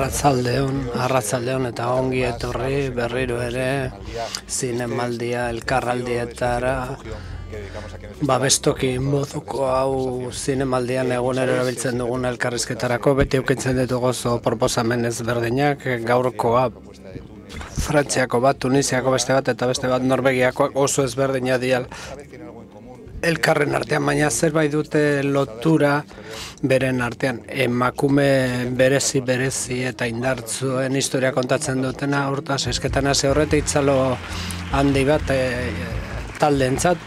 Arratsaldeon eta ongi etorri berriro ere zinemaldia elkarraldietara. Babestoki moduko hau zinemaldian egunero erabiltzen dugun elkarrizketarako beti aukitzen ditugu oso proposamen ezberdinak. Gaurkoa Frantziako bat, Tunisiako beste bat eta beste bat Norvegiakoak oso ezberdina dial elkarren artean, baina zerbait dute lotura beren artean. Emakume berezi eta indartzuen historia kontatzen dutena, hortaz esketan hasi horretik itzalo handi bat taldeentzat.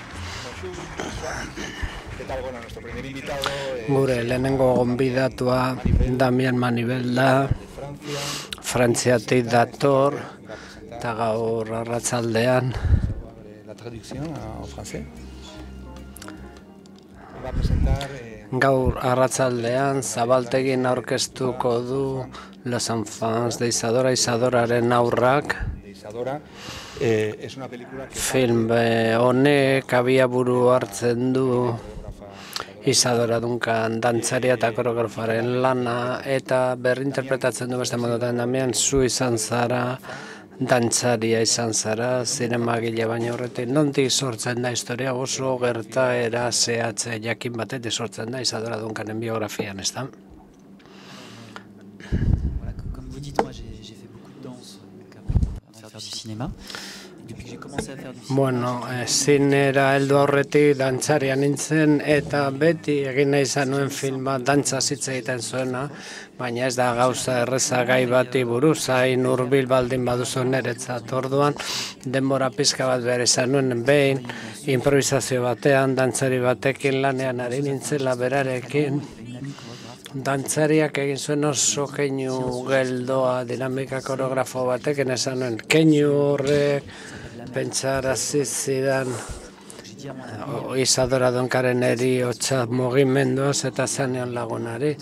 Gure lehenengo gonbidatua Damian Manibel da, Frantziatik dator, eta gaur arratsaldean Zabaltegin aurkeztuko du Los Enfants de Isadoraren aurrak. Film honek abiaburu hartzen du Isadora Duncan dantzaria eta koreografaren lana, eta berrinterpretatzen du beste modutan. Damian, zu izan zara, dantzaria izan zara, zinemagile baina horretik. Nondik sortzen da historia? Oso gertaera zehatze jakin batetik sortzen da Isadora Duncanen biografian, ez da? Comme vous dites, moi j'ai fait beaucoup de danse avant de faire du cinéma. Depuis que j'ai commencé à faire du cinéma, zinera heldu aurretik dantzaria nintzen, eta beti egin nahi izan nuen filma dantza hitz egiten zuena, baina ez da gauza erreza gai bati buruz, hain hurbil baldin baduzu niretzat. Orduan denbora pizka bat behar izan nuen, behin improvisazio batean dantzari batekin lanean ari nintzela berarekin. Dantzariak egin zuen oso keinu geldoa, dinamika koreografo batekin esan nuen. Keinu horrek pentsarazi zidan Isadora Duncaren heriotza mugimenduaz eta zanean lagunari.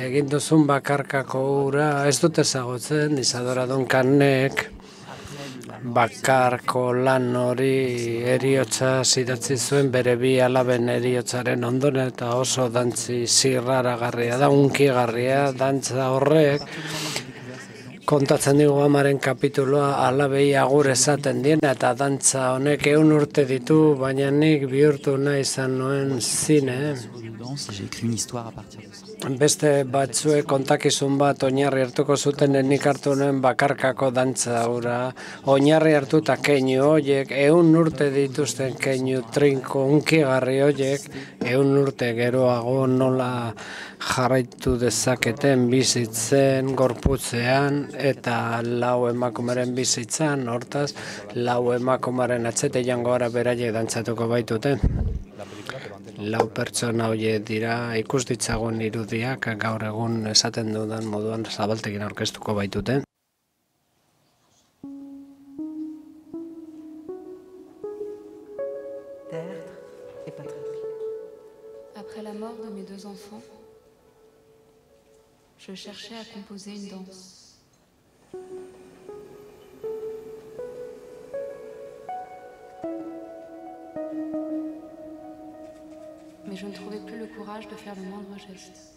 Egin duzun bakarkako ura, ez dut ezagutzen, Isadora Duncanek bakarko lan hori heriotza idatzi zuen bere bi alaben heriotzaren ondoren, eta oso dantzi zirraragarria da, unkigarria dantza horrek. Kontatzen digu amaren kapituloa, alabei agur esaten diena, eta dantza honek 100 urte ditu, baina nik bihurtu nahi izan nuen zine. Beste batzuek kontakizun bat oinarri hartuko zuten, nik hartu nuen bakarkako dantza hura. Oinarri hartuta keinu horiek, 100 urte dituzten keinu trinko unkigarri horiek, 100 urte geroago nola jarraitu dezaketen bizitzen, gorputzean, eta 4 emakumeren bizitzan, hortaz, 4 emakumeren atzete jango gara beraiek dantzatuko baitute. 4 pertsona horiek dira, ikus ditzagun irudiak, gaur egun esaten dudan moduan Zabaltegin aurkeztuko baitute. Après la mort de mes 2 enfants, je cherchais à composer une danse. Mais je ne trouvais plus le courage de faire le moindre geste.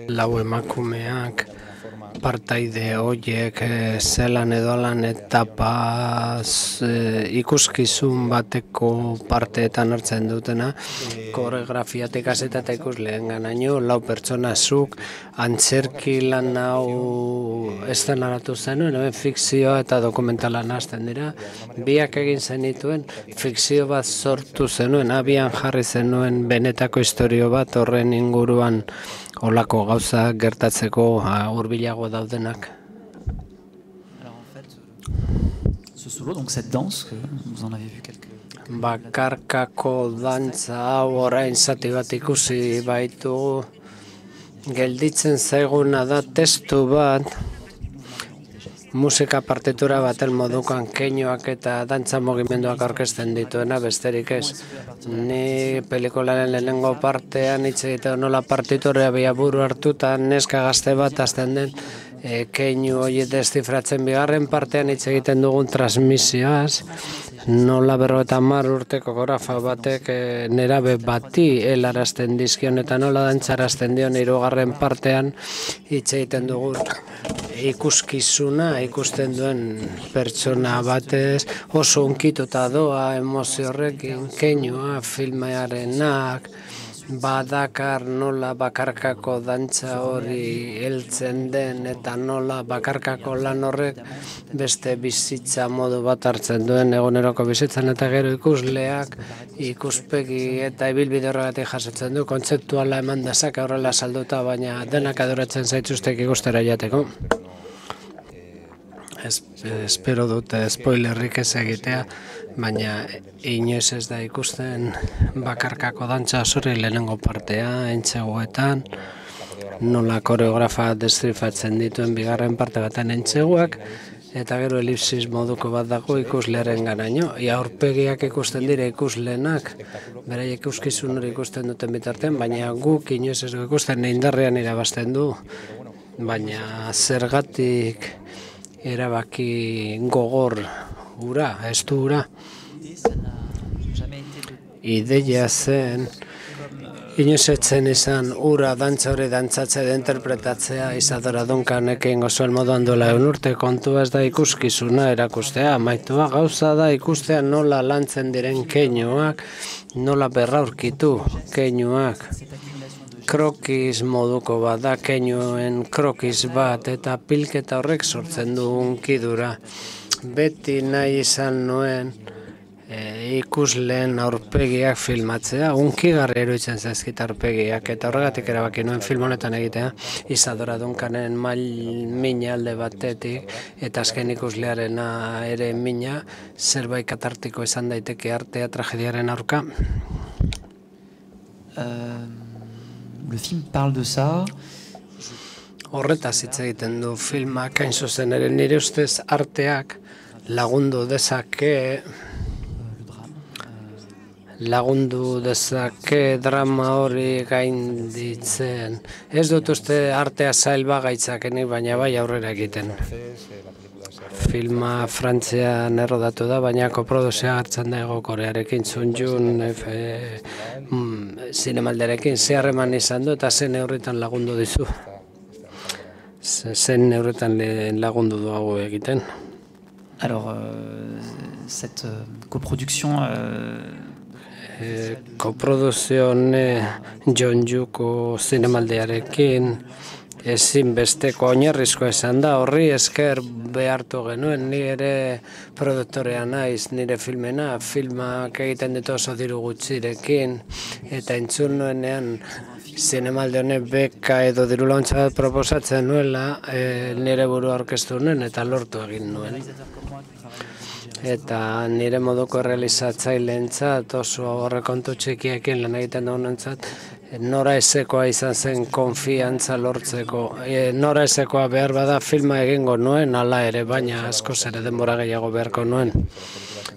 Lau emakumeak partaide horiek zelan edolan etapaz ikuskizun bateko parteetan hartzen dutena, koreografiatik hasita eta ikusleen ganaino, 4 pertsona zuk antzerki lan hau eszenaratu zenuen, fikzioa eta dokumentala hasten dira. Biak egin zenituen, fikzio bat sortu zenuen, abian jarri zenuen benetako historio bat horren inguruan olako gauza gertatzeko hurbilago daudenak. alors en fait, ce solo, donc cette danse, vous en avez vu quelques... Bakarkako dantza hau orain zati bat ikusi baitu, gelditzen zaiguna da testu bat, musika partitura baten modukan keinuak eta dantza mugimenduak aurkezten dituena, besterik ez. Ni pelikularen lehenengo partean hitz egiten nola partiturea biaburu hartuta neska gazte bat hasten den keinu hori deszifratzen. Bigarren partean hitz egiten dugun transmisioaz, nola 50 urteko koreografa batek nerabe bati helarazten dizkion eta nola dantzarazten dion. Hirugarren partean hitz egiten dugu ikuskizuna ikusten duen pertsona batez oso hunkituta doa emozio horrekin, keinua filmearenak badakar nola bakarkako dantza hori heltzen den eta nola bakarkako lan horrek beste bizitza modu bat hartzen duen eguneroko bizitzan, eta gero ikusleak ikuspegi eta ibilbide horregatik jasotzen du, kontzeptuala eman dezake horrela salduta, baina denak adoratzen zaituztek ikustera jateko. Espero dute spoilerrik ez egitea, baina inoiz ez da ikusten bakarkako dantza zure lehenengo partea, entseguetan, nola koreografa deszifratzen dituen bigarren parte baten entseguak, eta gero elipsis moduko bat dago ikuslearen garaino. Aurpegiak ikusten dira ikusleenak, beraiek ikuskizun hori ikusten duten bitartean, baina guk inoiz ez du ikusten indarrean irabazten du, baina zergatik erabaki gogor ura, ez du ura. Ideia zen, inoiz etzen izan ura dantza hori dantzatzea da interpretatzea Isadora Duncanekin gozoen moduan duela 100 urte. Kontua ez da ikuskizuna erakustea, maitua gauza da ikustea nola lantzen diren keinuak, nola berraurkitu keinuak. Krokiz moduko bat da, keinuen krokiz bat, eta pilketa horrek sortzen du hunkidura. Beti nahi izan nuen ikusleen aurpegiak filmatzea, hunkigarri iruditzen zaizkit aurpegiak, eta horregatik erabaki nuen film honetan egitea, Isadora Duncanen mina alde batetik, eta azken ikuslearena ere mina, zerbait katartiko izan daiteke artea tragediaren aurka. Le film parle de ça. Horretaz hitz egiten du filmak, hain zuzen ere nire ustez arteak lagundu dezake drama hori gainditzen. Ez dut uste artea zail bagaitzakenik, baina bai aurrera egiten. Filma Frantzian errodatu da, baina koproduzioa hartzen da Hego Korearekin, Sunjun zinemaldiarekin zeharreman izan du eta zen neurritan lagundu dizu. Zen neurritan lagundu du hau egiten. Alors, cette coproduction... Koproduzio Jeonjuko zinemaldiarekin ezinbesteko oinarrizkoa izan da, horri esker behartu genuen, ni ere produktorea naiz, nire filmak egiten ditu oso diru gutxirekin, eta entzun nuenean zinemaldi honek beka edo diru laguntza bat proposatzen nuela, nire burua aurkeztu nuen eta lortu egin nuen. Eta nire moduko realizatzaileentzat oso aurrekontu txikiekin lan egiten dugunentzat, nora ezekoa izan zen konfiantza lortzeko. Nora ezekoa behar bada filma egingo nuen, hala ere, baina askoz ere denbora gehiago beharko nuen.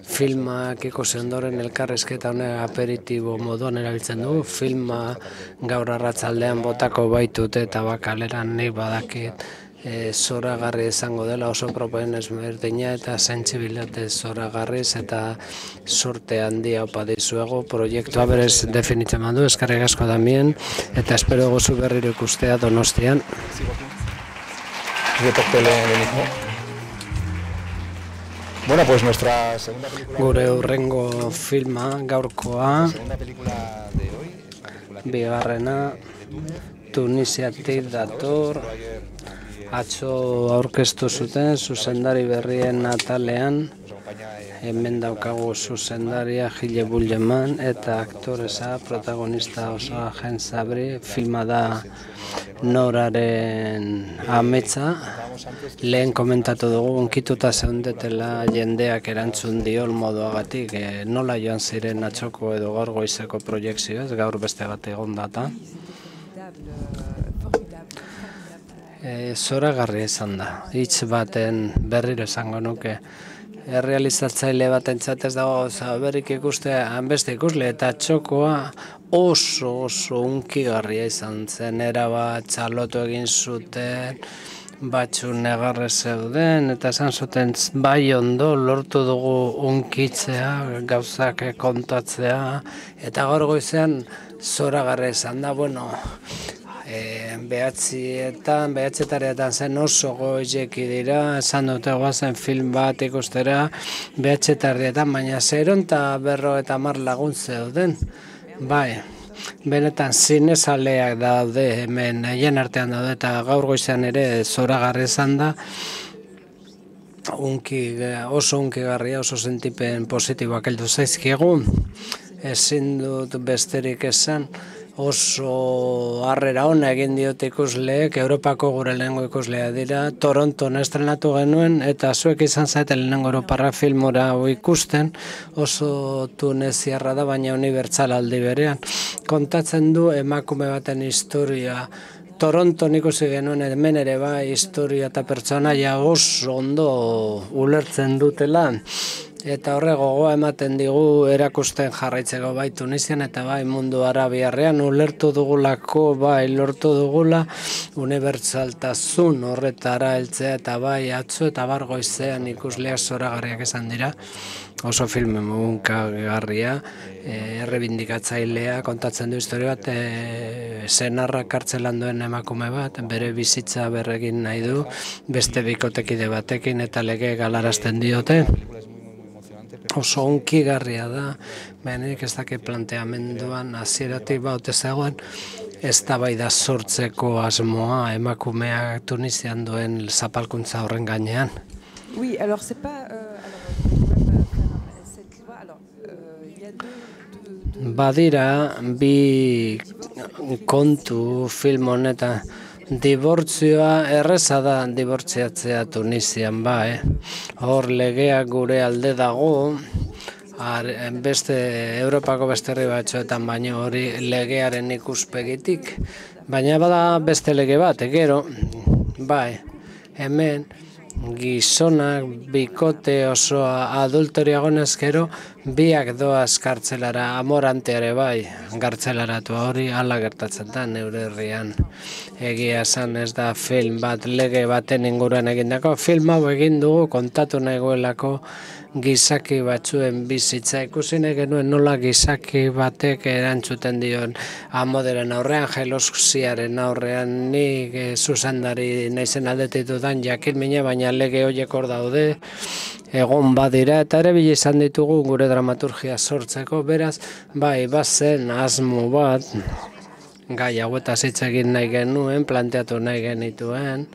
Filmak ikusi ondoren elkarrizketa honek aperitibo moduan erabiltzen dugu. Filma gaur arratzaldean botako baitut eta bakaleran nik badakit zoragarri izango dela, oso propoen ezberdina eta sentsibilitate zoragarriz eta sorte handia opa dizuegu. Proiektua berez definitzen mandu, eskerrik asko Damien, eta espero gozu berriro ikustea Donostian. Bueno, pues nuestra segunda película... Gure hurrengo filma, gaurkoa, bigarrena, Tunisiatik dator, atzo aurkeztu zuten zuzendari berrien atalean, hemen daukagu zuzendaria Gile Bulleman eta aktoresa protagonista oso Agen Sabri. Filma da Noraren ametsa. Lehen komentatu dugu unkituta zeundetela jendeak erantzun diol moduagatik, nola joan ziren atxoko edo gaur goizeko proiekzioez, gaur beste bat egon data. Zoragarri izan da, hitz baten berriro esango nuke. Errealizatzaile batentzat ez dago berrik ikustea, hanbeste ikusle, eta txokoa oso unkigarria izan zen, erabat txalotu egin zuten, batzu negarre zeuden, eta esan zuten bai ondo lortu dugu unkitzea, gauzak kontatzea, eta gaur goizean zoragarri izan da, bueno, behatzietaretan zen oso goizeki dira, esan dute guazen film bat ikustera, behatzietardietan, baina 050 lagun zeuden, bai. Benetan zinezaleak daude hemen haien artean daude eta gaur goizean ere zoragarri izan da oso hunkigarria, oso sentipen positiboak heldu zaizkigu. Ezin dut besterik esan, oso harrera ona egin diote ikusleek, Europako gure lehenengo ikuslea dira, Toronton estrenatu genuen, eta zuek izan zaeten lehenengo Europarra filmora ikusten, oso tuneziarra da, baina unibertsal aldi berean. Kontatzen du emakume baten historia, Toronton ikusi genuen hemen ere bai historia eta pertsonaia oso ondo ulertzen dutela, eta horre gogoa ematen digu erakusten jarraitzeko bai Tunisian eta bai mundu arabiarrean ulertu dugulako, bai lortu dugula unibertsaltasun horretara heltzea eta bai atzo eta bar goizean ikusleak zoragarriak esan dira. Oso filme mugunkagarria, errebindikatzailea, kontatzen du historia bat, senarra kartzelan duen emakume bat, bere bizitza berregin nahi du, beste bikotekide batekin eta lege galarazten diote. Oso hunkigarria da, benik ez dakit planteamenduan hasieratik baute zegoen, eztabaida sortzeko asmoa emakumeak Tunisian duen zapalkuntza horren gainean. Oui, alors c'est pas Badira, bi kontu film honetan, dibortzioa erreza da dibortziatzea Tunisian ba, Hor legeak gure alde dago, beste Europako beste herri batzuetan baino hori legearen ikuspegitik, baina bada beste lege bat, gero, bai, hemen gizonak bikote osoa adulterio egonez gero biak doaz kartzelara, amoranteare bai kartzelaratu hori hala gertatzen da neure herrian. Egia esan ez da film bat lege baten inguruan egindako, film hau egin dugu kontatu nagoelako gizaki batzuen bizitza ikusi nahi genuen nola gizaki batek erantzuten dion amoderen aurrean, jelosiaren aurrean, nik zuzendari naizen aldetik dudan jakin mine, baina lege horiek hor daude, egon badira, eta ere bila izan ditugu gure dramaturgia sortzeko, beraz, bai, bazen asmo bat, gai hauetaz hitz egin nahi genuen, planteatu nahi genituen,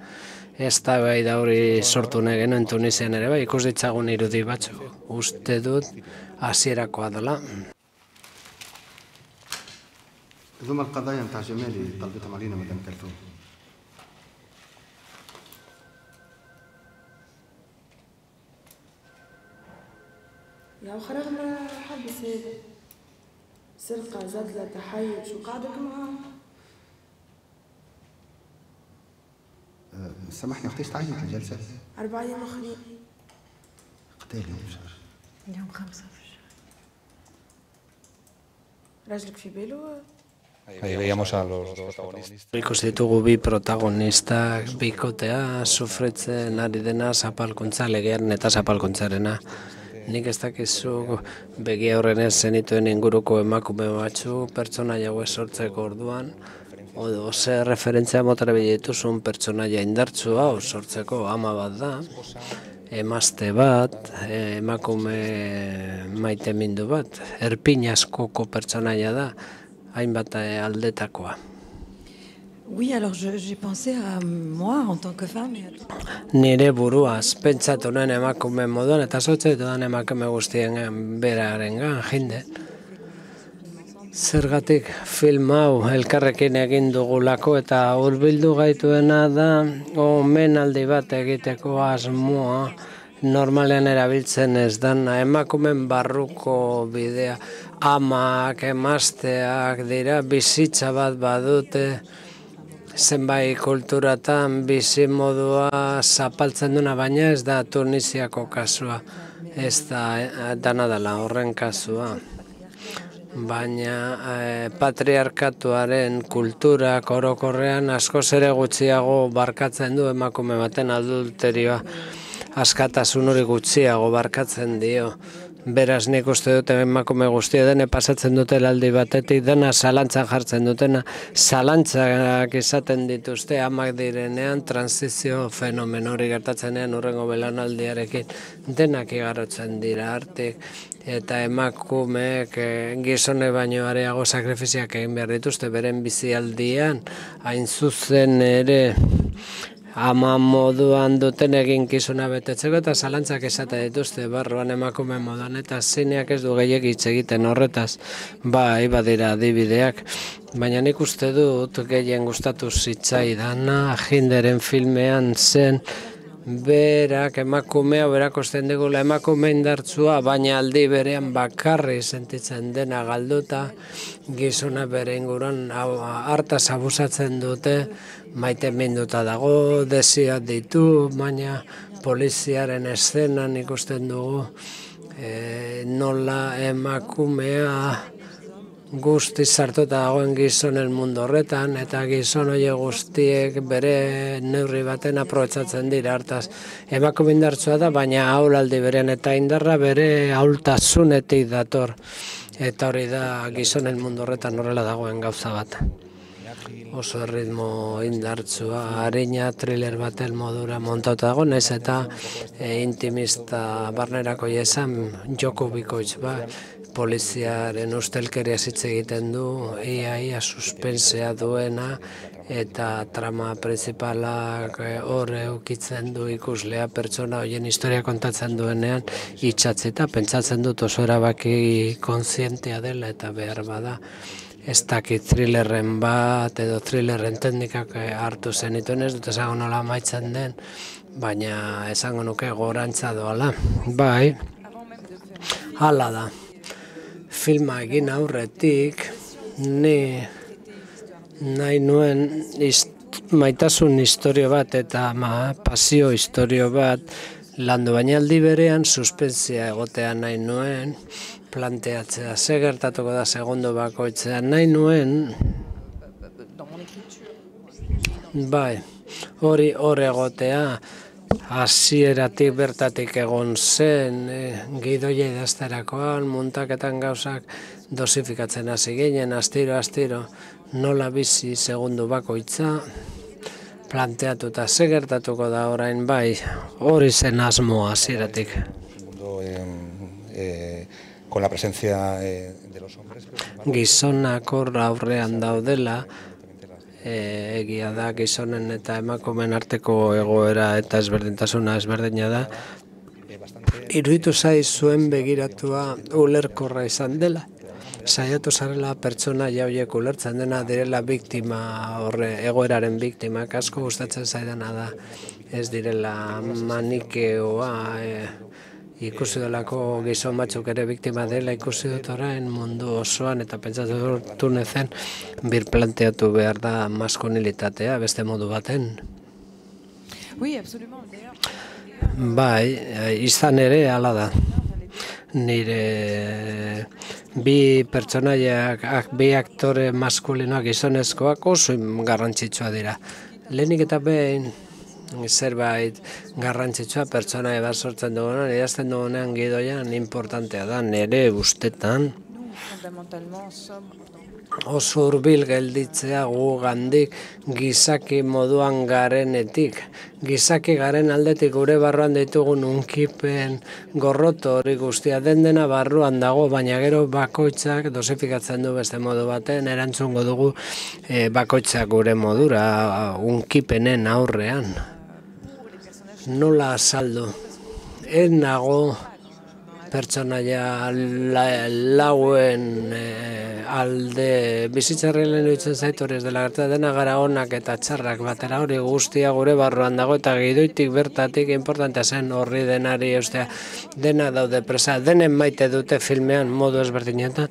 ez da bai da hori sortu nahi genuen Tunisian ere, bai, ikus ditzagun irudi batzuk, uste dut hasierakoa dela. هذوما القضايا نتاع جمالي طلبتهم علينا مدام كلثوم. يا خرج ما حبس هذا سرقة زدلة تحيط شو قعدك معاه؟ سامحني اختي تعينت الجلسة؟ 4 أيام أخرين. قتال اليوم شهر؟ اليوم 5 في الشهر. راجلك في باله؟ Ahí veíamos a los dos protagonistas. Ikusi ditugu bi protagonistak bikotea sufritzen ari dena zapalkuntza legearen eta zapalkuntzarena. Nik ez dakizu begi aurrenez zenituen inguruko emakume batzu pertsonaia hauek sortzeko orduan, ze referentzia motara dituzun pertsonaia indartsu hau sortzeko ama bat da, emazte bat, emakume maitemindu bat, erpin askoko pertsonaia da, hainbat aldetakoa. Oui, alors j'ai pensé à moi en tant que femme. Nire buruaz, pentsatu nuen emakume moduan, eta sotzaitu dan emakume guztien berarengan, jende. Zergatik film hau elkarrekin egin dugulako eta hurbildu gaituena da omenaldi bat egiteko asmoa, normalean erabiltzen ez dana, emakumen barruko bidea, amak, emazteak dira, bizitza bat badute, zenbait kulturatan bizi modua zapaltzen duna, baina ez da Tunisiako kasua, ez da dana dela horren kasua. baina patriarkatuaren kulturak orokorrean askoz ere gutxiago barkatzen du emakume baten adulterioa, askatasun hori gutxiago barkatzen dio. Beraz, nik uste dut emakume guztia dene pasatzen dutela aldi batetik, dena zalantzan jartzen dutena, zalantzak izaten dituzte amak direnean, transizio fenomen hori gertatzenean urrengo belaunaldiarekin, denak igarotzen dira artik, eta emakumeek gizone baino areago sakrifiziak egin behar dituzte beren bizialdian, hain zuzen ere ama moduan duten eginkizuna betetzeko eta zalantzak esate dituzte barruan emakume moduan, eta zineak ez du gehiegi hitz egiten horretaz, bai badira adibideak, baina nik uste dut gehien gustatu zitzaidana Hinderen filmean zen berak emakumea berakosten digula emakume indartsua, baina aldi berean bakarri sentitzen dena galduta, gizona bere inguruan hartaz abusatzen dute, maite minduta dago, desioak ditu, baina poliziaren eszenan ikusten dugu nola emakumea guztiz sartuta dagoen gizonen mundu horretan, eta gizon horiek guztiek bere neurri baten aprobetxatzen dira hartaz. Emakume indartsua da, baina ahulaldi beren eta indarra bere ahultasunetik dator. Eta hori da gizonen mundu horretan horrela dagoen gauza bat. Oso erritmo indartsua, arina thriller baten modura montauta dago, naiz eta intimista barnerako esan joko bikoitz bat. Poliziaren ustelkeria hitz egiten du, ia suspensea duena, eta trama principalak hor eukitzen du ikuslea pertsona horien historia kontatzen duenean itxatzita, pentsatzen dut oso erabaki kontzientea dela eta behar bada. Ez dakit thrillerren bat edo thrillerren teknikak hartu zenituen, ez dut esango nola amaitzen den, baina esango nuke gorantza doala. Bai, hala da. Filma egin aurretik, ni nahi nuen maitasun historio bat eta pasio historio bat landu, baina aldi berean suspensia egotea nahi nuen, planteatzea, ze gertatuko da segundo bakoitzean, nahi nuen, bai, hori hor egotea, hasieratik bertatik egon zen, gidoia idazterakoan, muntaketan gauzak dosifikatzen hasi ginen, astiro, nola bizi segundo bakoitza, planteatuta ze gertatuko da orain, bai, hori zen asmoa hasieratik. Con la presencia de los hombres. Gizonak hor aurrean daudela, egia da gizonen eta emakumeen arteko egoera eta ezberdintasuna ezberdina da. Iruditu zuen begiratua ulerkorra izan dela. Saiatu zarela pertsona horiek ulertzen dena direla biktima, egoeraren biktimak, asko gustatzen zaidana da. Ez direla manikeoa, ikusi dolako gizon batzuk ere biktima dela, ikusi dut orain mundu osoan, eta pentsatu dut nezen birplanteatu behar da maskulinitatea beste modu baten. Bai, izan ere hala da. Nire bi pertsonaiak, bi aktore maskulinoak gizonezkoak oso garrantzitsua dira. Lehenik eta behin zerbait garrantzitsua pertsona bat sortzen dugunan, idazten dugunean gidoian importantea da, nire ustetan. Oso hurbil gelditzea gugandik gizaki moduan garenetik. Gizaki garen aldetik gure barruan ditugun unkipen gorroto hori guztia dena barruan dago, baina gero bakoitzak dosifikatzen du beste modu baten, erantzungo dugu bakoitzak gure modura unkipenen aurrean. Nola azaldu? Ez nago pertsonaia lauen alde bizitzarren lehen dutzen zaitu hori ez dela gerta dena gara onak eta txarrak batera hori guztia gure barruan dago eta gidoitik bertatik importantea zen horri denari dena daude presa, denen maite dute filmean modu ezberdinetan,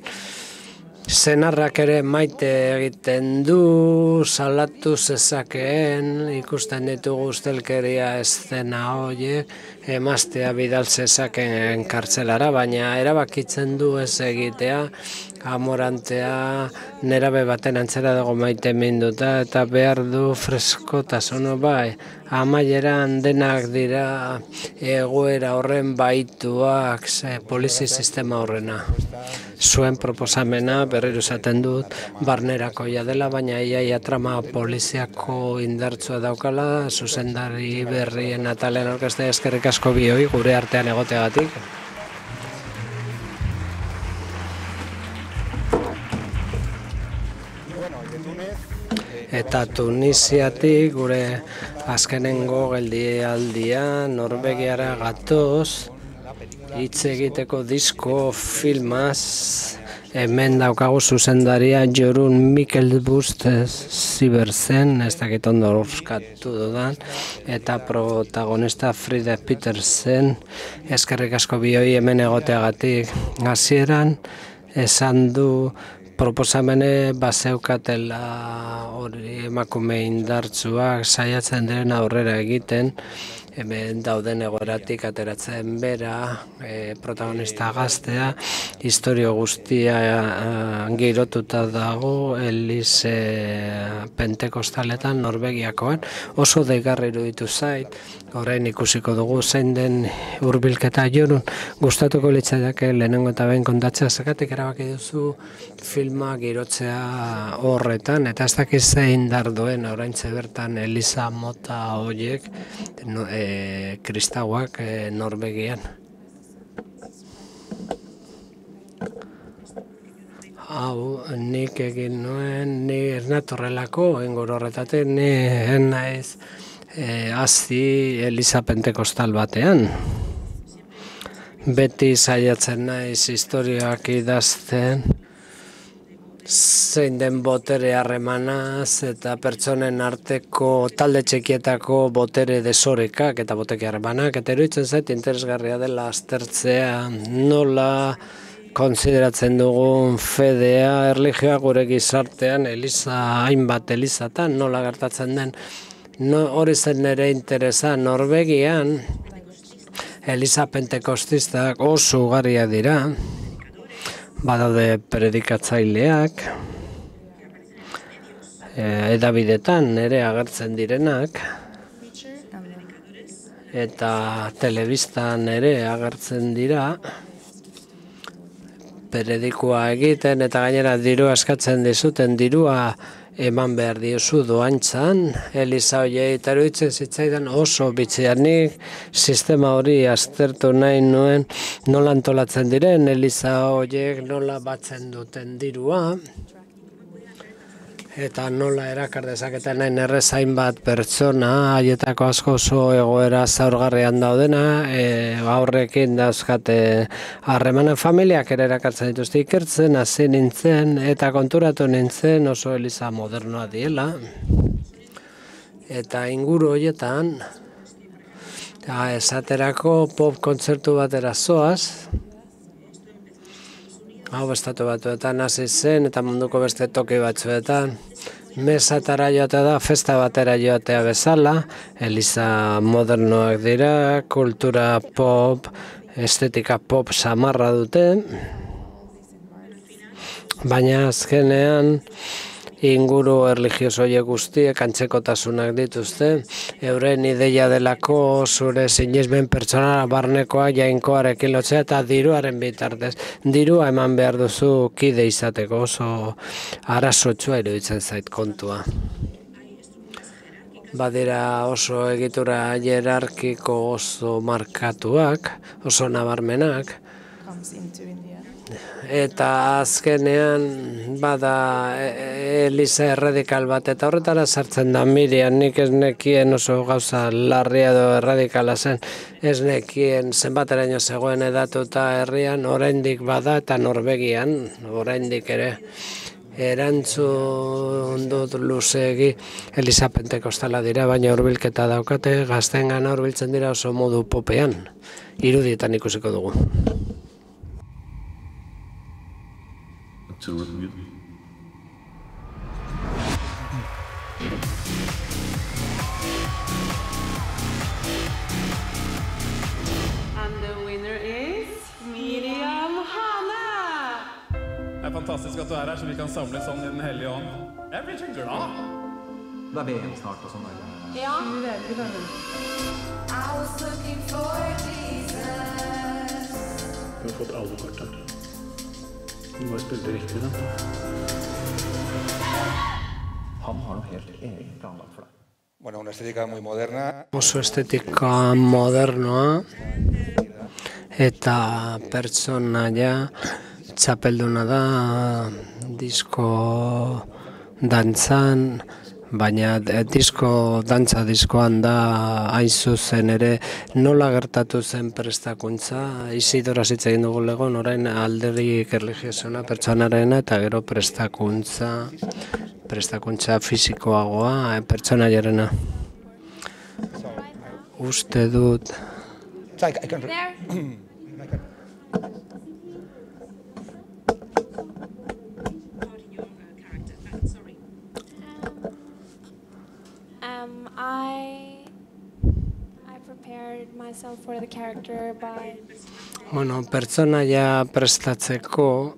Senarrak ere maite egiten du, salatu zezakeen, ikusten ditugu ustelkeria eszena horiek, emaztea bidal zezakeen kartzelara, baina erabakitzen du ez egitea, amorantea nerabe baten antzera dago maite minduta, eta behar du freskotasuna bai. Amaieran denak dira egoera horren baituak, polizi sistema horrena. Zuen proposamena berriro esaten dut barnerakoia dela, baina iaia trama poliziako indartsua daukala, zuzendari berrien atalean aurkeztea. Eskerrik asko bioi gure artean egoteagatik. Eta Tunisiatik gure azkenengo geldialdia Norvegiara gatoz, hitz egiteko disko filmaz, hemen daukagu zuzendaria Jorun Mikkelbust Zibersen, ez dakit ondo urskatu dudan, eta protagonista Frida Petersen. Eskerrik asko bioi hemen egoteagatik. Hasieran esan du proposamene bazeukatela hori emakume indartsuak saiatzen diren aurrera egiten, hemen dauden egoeratik ateratzen bera, protagonista gaztea, historio guztia girotuta dago Elize Pentekostaletan Norvegiakoan, oso deigarri iruditu zait, orain ikusiko dugu zein den hurbilketa. Jorun, gustatuko litzaidake lehenengo eta behin kontatzea, zergatik erabaki duzu filma girotzea horretan, eta ez dakiz zein indar duen oraintxe bertan Eliza mota horiek kristauak Norvegian. Hau, nik egin nuen, ni ez natorrelako, engor horretatik, ni naiz hazi Eliza Pentekostal batean. Beti saiatzen naiz historioak idazten, zein den botere harremanaz eta pertsonen arteko talde txikietako botere desorekak eta boteke harremanak, eta iruditzen zait interesgarria dela aztertzea nola konsideratzen dugun fedea, erlijioa gure gizartean, eliza, hainbat elizatan, nola gertatzen den. Hori zen nire interesa. Norvegian Eliza Pentekostistak oso ugariak dira, badaude predikatzaileak, edabidetan ere agertzen direnak, eta telebistan ere agertzen dira, predikua egiten, eta gainera dirua eskatzen dizuten, dirua eman behar diozu doantzan, Eliza horiei, eta iruditzen zitzaidan oso bitxianik sistema hori aztertu nahi nuen, nola antolatzen diren Eliza horiek, nola batzen duten dirua, eta nola erakar dezaketen nahi errezain bat pertsona, haietako asko oso egoera zaurgarrian daudena, aurrekin dauzkate harremanen familiak ere erakartzen dituzte. Ikertzen hasi nintzen eta konturatu nintzen oso eliza modernoa diela. Eta inguru horietan, esaterako pop kontzertu batera zoaz, hau Estatu Batuetan hasi zen eta munduko beste toki batzuetan. Mesatara joatea da, festa batera joatea bezala, eliza modernoak dira, kultura pop, estetika pop samarra dute, baina azkenean inguru erlijioso horiek guztiek antzekotasunak dituzte, euren ideia delako zure sinesmen pertsonala barnekoa jainkoarekin lotzea eta diruaren bitartez. Dirua eman behar duzu kide izateko, oso arazotsua iruditzen zait kontua. Badira oso egitura hierarkiko oso markatuak, oso nabarmenak, eta azkenean bada eliza erradikal bat, eta horretara sartzen da Miriam, nik ez nekien oso gauza larria edo erradikala zen, ez nekien zenbateraino zegoen edatuta herrian, oraindik bada eta Norvegian, oraindik ere. Erantzun dut luzegi Eliza Pentekostala dira, baina hurbilketa daukate, gazteengana hurbiltzen dira oso modu popean, irudietan ikusiko dugu. Utroligt mye. And the winner is Miriam Hane. Det er fantastisk at du er her, så vi kan samles sånn i Den hellige ånd. Jeg blir så glad. Det er VM snart og sånn. Ja. Du har fått alle kort her. Du bare spilte riktig, da. Han har noe helt egen planlagt for deg. Bueno, una estética muy moderna. Oso estetika modernoa eta pertsonaia txapelduna da disko dantzan, baina diskoan da hain zuzen ere nola gertatu zen prestakuntza. Isidora hitz egin dugu legon, orain alderik erligiosuna pertsonarena eta gero prestakuntza fisikoagoa pertsonaiarena. Uste dut I prepared myself for the character by pertsonaia prestatzeko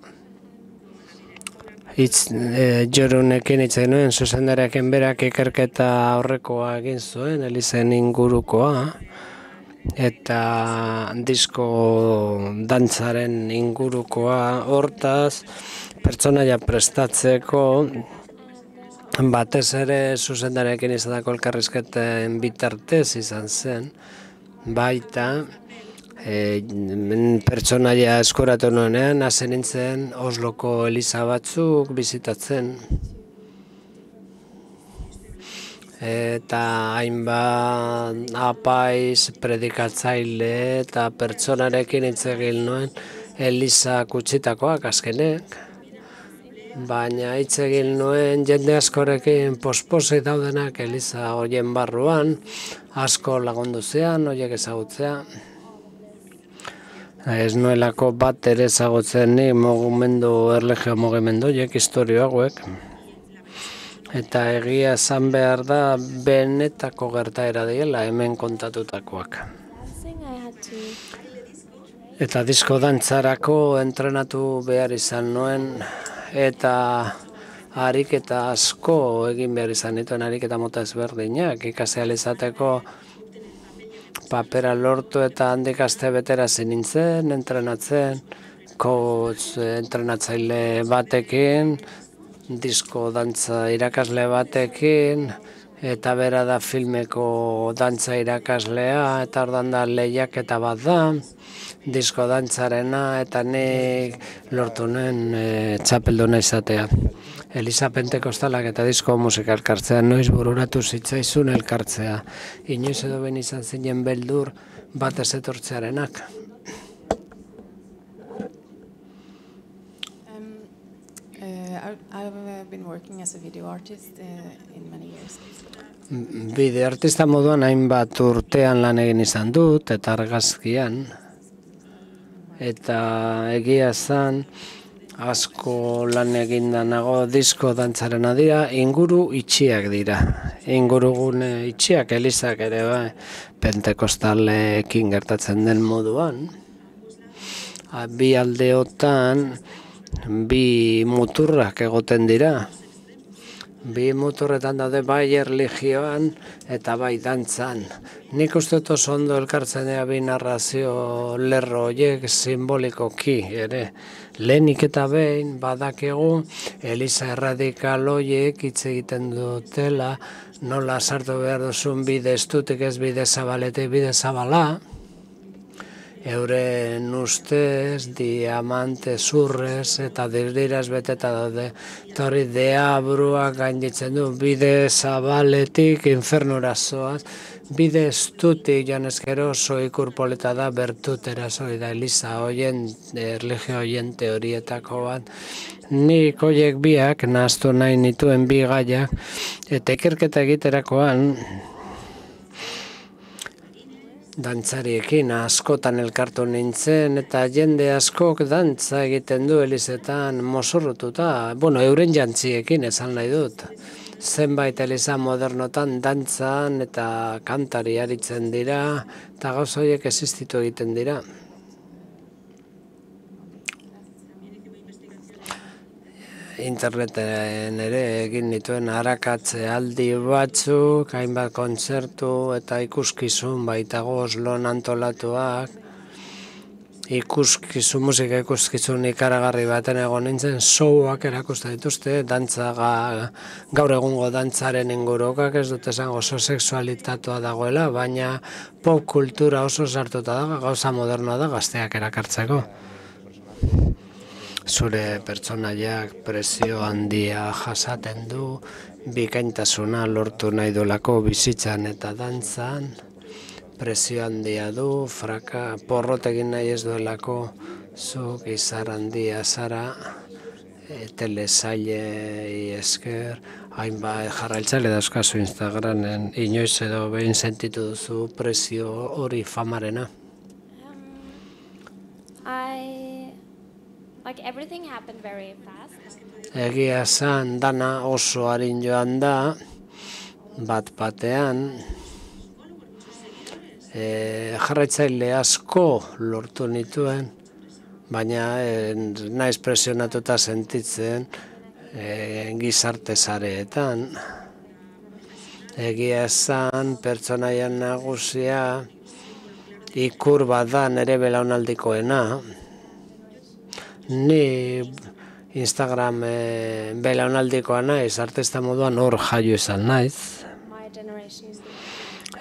Jorunekin hitz egin nuen, zuzendariaken berak ikerketa aurrekoa egin zuen, Elizen ingurukoa, eta disko dantzaren ingurukoa. Hortaz, pertsonaia prestatzeko, batez ere zuzendariakin izateko elkarrizketen bitartez izan zen, baita, pertsonaia eskoratu nuenean, hasi nintzen Osloko eliza batzuk bizitatzen. Eta hainbat apaiz, predikatzaile eta pertsonarekin hitz egin nuen eliza kutsitakoak azkenek. Baina hitz egin nuen jende askorekin posposi daudenak eliza horien barruan, asko lagundu zean, horiek ezagutzea. Ez nuelako bat ere ezagutzen ni erlijio mugimenduek, historio hauek. Eta egia esan behar da benetako gertaera diela hemen kontatutakoak. Eta disko dantzarako entrenatu behar izan nuen, eta ariketa asko egin behar izan nituen, ariketa mota ezberdinak, ikasi ahal izateko papera lortu eta handik aste betera nintzen, entrenatzen, entrenatzaile batekin, disko dantza irakasle batekin, eta bera da filmeko dantza irakaslea, eta ordan da lehiaketa bat da, disko dantzarena, eta nik lortu nuen txapelduna izatea. Eliza Pentekostalak eta disko musika elkartzea, noiz bururatu zitzaizun elkartzea. Inoiz edo ben izan zinen beldur bat ez etortzearenak. I've been working as a video artist in many years. Bideo artista moduan hainbat urtean lan egin izan dut eta argazkian. Eta egia zan, asko lan eginda nago disko dantzarena dira, inguru itxiak dira. Ingurugune itxiak, elizak ere bai, Pentekostalekin gertatzen den moduan. Bi aldeotan, bi muturrak egoten dira. Bi muturretan daude bai erlijioan eta bai dantzan. Nik uste dut oso ondo elkartzen dira bi narrazio lerro horiek simbolikoki ere. Lehenik eta behin badakigu eliza erradikal horiek hitz egiten dutela, nola sartu behar duzun bide estutik ez bide zabaletik bide zabala. Euren ustez, diamante zurrez eta dirdiraz beteta daude. Eta hori deabruak gainditzen du, bide zabaletik infernura zoaz, bide estutik joan ezkero oso ikurpolita da bertutera zoi da eliza hoien, erlijio hoien teorietako bat. Nik hoiek biak nahaztu nahi nituen bi gaiak eta ikerketa egiterakoan dantzariekin askotan elkartu nintzen, eta jende askok dantza egiten du elizetan mozorrotuta, euren jantziekin esan nahi dut. Zenbait eliza modernotan dantzan eta kantari aritzen dira, eta gauza horiek existitu egiten dira. Interneten ere egin nituen arakatze aldi batzuk, hainbat kontzertu eta ikuskizun baitago Oslon antolatuak. Musika ikuskizun ikaragarri baten egon nintzen, showak erakusten dituzte, gaur egungo dantzaren ingurukak, ez dut esango oso sexualitatea dagoela, baina pop kultura oso sartuta da, gauza modernoa da gazteak erakartzeko. Zure pertsonaiak presio handia jasaten du, bikaintasuna lortu nahi duelako bizitzan eta dantzan, presio handia du, porrot egin nahi ez duelako, zuk izar handia zara, telesailei esker, hainbat jarraitzaile dauzkazu Instagramen, inoiz edo behin sentitu duzu presio hori famarena? Egia esan dana oso arin joan da, bat batean, jarraitzaile asko lortu nituen, baina naiz presionatuta sentitzen gizarte sareetan. Egia esan pertsonaian nagusia ikur bat da nire belaunaldikoena. Ni Instagram belaunaldikoa naiz, artista moduan hor jaio izan naiz.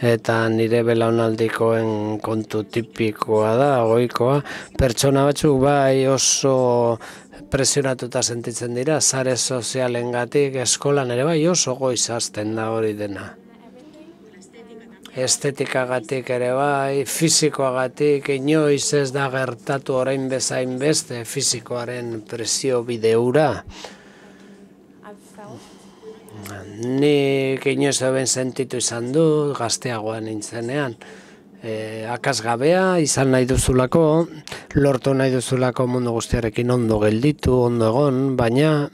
Eta nire belaunaldikoen kontu tipikoa da, ohikoa. Pertsona batzuk bai oso presionatuta sentitzen dira, sare sozialengatik, eskolan ere bai oso goiz hasten da hori dena. Estetikagatik ere bai, fisikoagatik, inoiz ez da gertatu orain bezain beste fisikoaren presio bideura. Nik inoiz eben sentitu izan du, gazteagoan nintzenean. Akasgabea izan nahi duzulako, lortu nahi duzulako mundu guztiarekin ondo gelditu, ondo egon, baina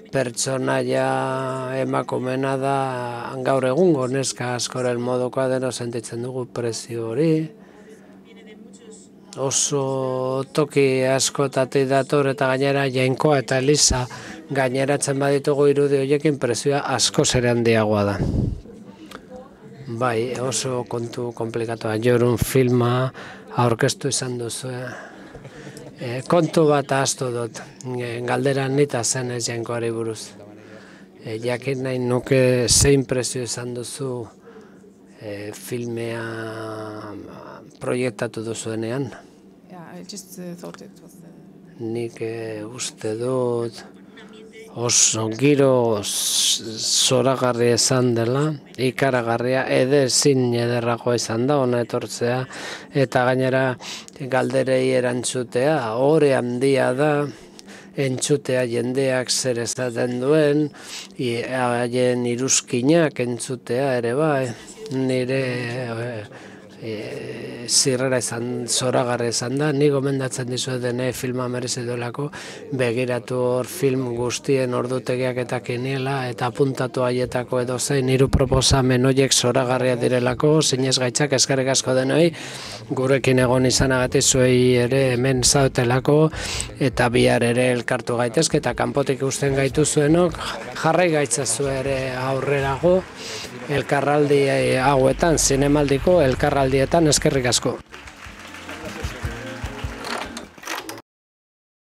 pertsonaia emakumena da gaur egungo neska askoren modukoa deno sentitzen dugu presio hori. Oso toki askotatik dator eta gainera Jainkoa eta Elisa gaineratzen baditugu irudi horiekin presioa asko ere handiagoa da. Bai, oso kontu komplikatua. Jorun filma aurkeztu izan duzu. Kontu bat ahaztu dut, galdera nita zen ez Jainkoari buruz. Jakin nahi nuke zein presio izan duzu filmea proiektatu duzuenean. Nik uste dut oso giro zoragarria izan dela, ikaragarria, ezin ederragoa izan da, ona etortzea, eta gainera galderei erantzutea, ore handia da, entzutea jendeak zer esaten duen, haien iruzkinak entzutea ere bai, nire zirrera izan, zoragarria izan da, ni gomendatzen dizuet dene filma merezi duelako, begiratu hor film guztien ordutegiak eta kiniela, eta apuntatu haietako edo zein hiru proposamen horiek zoragarria direlako, zinez gaitzak eskerrik asko denoi, gurekin egon izanagatik zuei ere hemen zautelako, eta bihar ere elkartu gaitezke, eta kanpotik ikusten gaitu zuenok, jarrai gaitzazu ere aurrerago, elkarraldi hauetan, zinemaldiko elkarraldietan eskerrik asko.